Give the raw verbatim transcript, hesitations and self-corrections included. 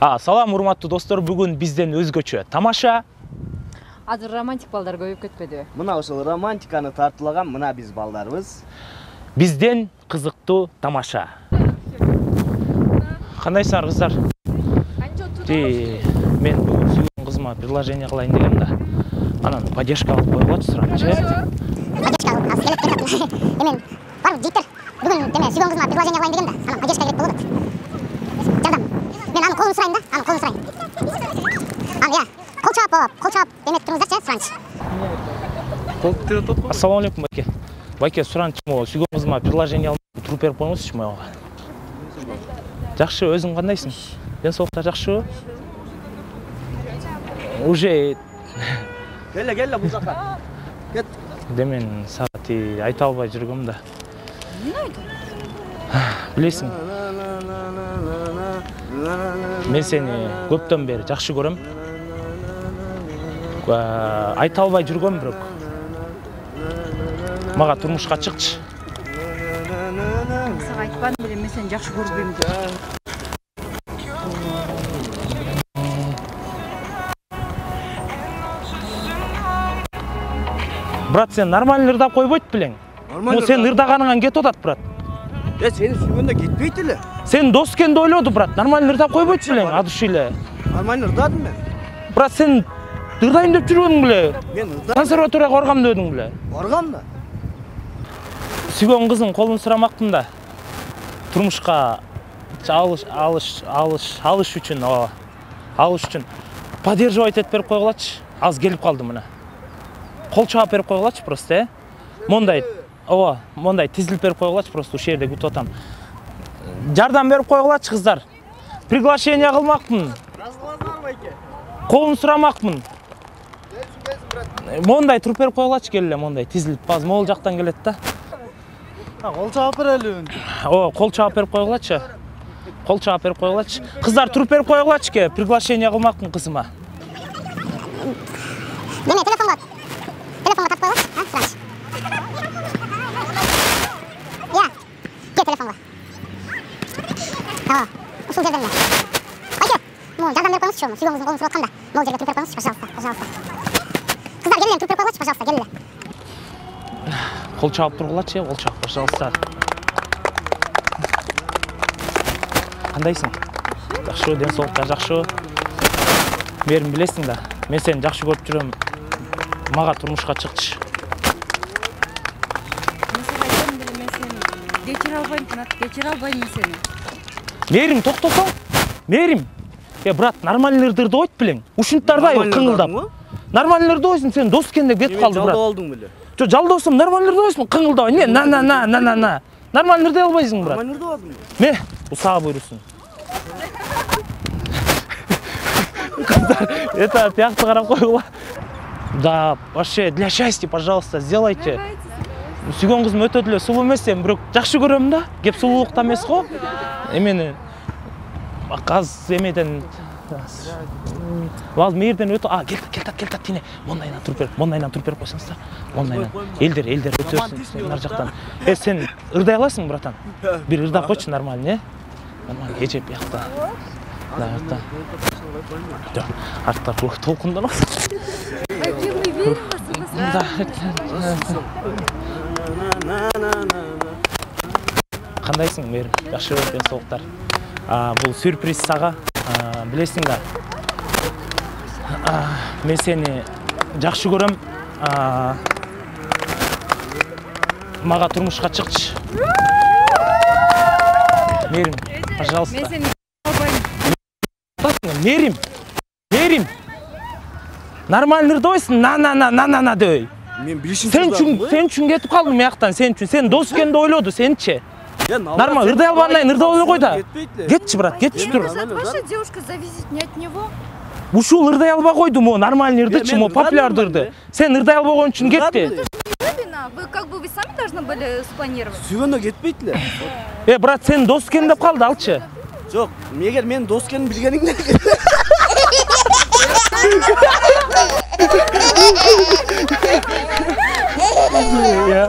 Салам урматтуу достор, бүгүн бизден өзгөчө тамаша. Азыр романтик балдар көбөйүп кетпедиби? Мына ошол романтиканы тартуулаган мына биз балдарыбыз. Бизден кызыктуу тамаша. Кандайсыңар кыздар? Мен бүгүн сүйгөн кызыма предложение кылайын дегем да. Анан поддержка алып койгулачы сурамчы. Поддержка алып келет. Эмен бар жигиттер бүгүн деме сүйгөн кызыма предложение кылайын дегем да. Анан поддержка керек болот. Жардам. Мен анын колун сурайын да, анын колун сурайын. Аны я, кол чаап болуп, кол чаап эметип туруңуздарчы, суранчы. Кол тире топ. Ассаламу алейкум байке. Байке суранчы могу сүйгөн кызыма предложение алып туруп берип коюңузчу мага. Жакшы, өзүң кандайсың? Ден соолуктар жакшыбы? Уже Келе, келе бул жака. Кет. Демен саати айта албай жүргөм да. Эмне айтып? Билесиң. Мен сени көптөн бери жакшы көрөм. Айта албай жүргөм, бирок мага турмушка чыкчы. Сага айтпадым беле, мен сени жакшы көрбөйм деп. Брат, сен нормально ырдап койбойт белең. Му сен ырдаганыңан кетип атат, брат. Э, сени сүйгөндө кетпейт эле. Сен дос экенди ойлоду, брат. Нормально ырдап койбойт белең, ад уши эле. Нормально ырдадым мен. Брат, сен ырдайм деп жүрбөдүң беле? Мен ырдадым. Консерваторияга баргам дедиң беле? Баргам да. Сүйгөн кызың колун сурамакмын да. Турмушка алыш алыш алыш алыш үчүн, ооба. Алыш үчүн поддерживать этип берип койгулачы. Аз келип калды мына. Кол чаап берип койгулачы просто, э? Мондай, ооба, мондай тизилип берип койгулачы, просто ушул жерде күтүп атам. Жардам берип койгулачы кыздар. Приглашение кылмакмын. Разыласыңар байке. Колун сурамакмын. Мондай туруп берип койгулачы, келе мондай тизилип, баз могул жактан келет да. Кол чаап берели. Ооба, кол чаап берип койгулачы. Кол чаап берип койгулачы. Кыздар туруп берип койгулачы, ке, приглашение кылмакмын кызыма. Деме, телефонго. Телефонго тартып койгулачы, а, суранчы. Я, кел телефонго. Ооба, ушул жерден эле. Байке, могу жардам берип коюңузчу, сүйгөн кыздын колун суруп атканда. Могул жерге туруп берип коюңузчу, пожалуйста, пожалуйста. Кыздар, келе, туруп берип койгулачы, пожалуйста, келе. Кол чаап тургулачы, кол чаап, пожалуйста. Кандайсың? Жакшыбы, ден соолуктар жакшыбы? Мерим билесиң да, мен сени жакшы көрүп жүрөм. Мага турмушка чыкчы. Мен сага айтам деле, мен сени кечире албайм, кечире албайм мен сени. Мерим, токтосоң. Мерим. Э, брат, нормально ырдырды койт белең. Ушунтардай кыңылдап. Нормально ырдойсуң, сен дос экен деп кетип калды, брат. Жалдап алдың беле. Жо, жалдосом, нормально ырдойсуң, кыңылдабай. Не, на на на на на на. Нормально ырдай албайсың, брат. Нормально ырдадым. Ме, бул сага буйрусун. Кыздар, это тиякты карап койгула. Да, вообще, для счастья, пожалуйста, сделайте. Сүйгөн кызым өтө деле сулуу эмес, эми бирок жакшы көрөм да. Кеп сулуулукта эмес го. Эмени аз эмеден Вал мээрден өтө, а, кел, кел, кел, кел, тине. Мондайынан туруп берип, мондайынан туруп берип койсоңуздар. Мондайынан. Элдер, элдер өтөсүң, нар жактан. Э, сен ырдай аласың, братан? Бир ырдап койчу, нормально, э? Нормально, эжеп бияқта. Да, артта. Жок, артта толкундан. Байке, мы верим вас. Да. Кандайсың, мээрим? Жакшы, ден соолуктар. А, бул сюрприз сага. Билесиң да. Мен сени жакшы көрөм. Мага турмушка чыкчы. Мерим, пожалуйста. Мен сени албайм. Мерим. Мерим. Нормально ырдойсуң, на-на-на-на-на дей. Мен билишим. Сен үчүн, сен үчүн кетип калдым мыяктан, сен үчүн. Сен дос экенди ойлоду, сенчи. Нормально, ырдай албайын, ырдап эле кой да. Кетчи, брат, кетчи тур. Ваша девушка зависит не от него. Ушул ырдай албай койду, мо нормально ырдычы, мо популярдуу ырды. Сен ырдай албай койгон үчүн кетти. Вы как бы вы сами должны были спланировать. Сүйгөндө кетпейт эле. Э, брат, сен дос экен деп калды, алчы. Жок, эгер мен дос экенин билгениңде. Я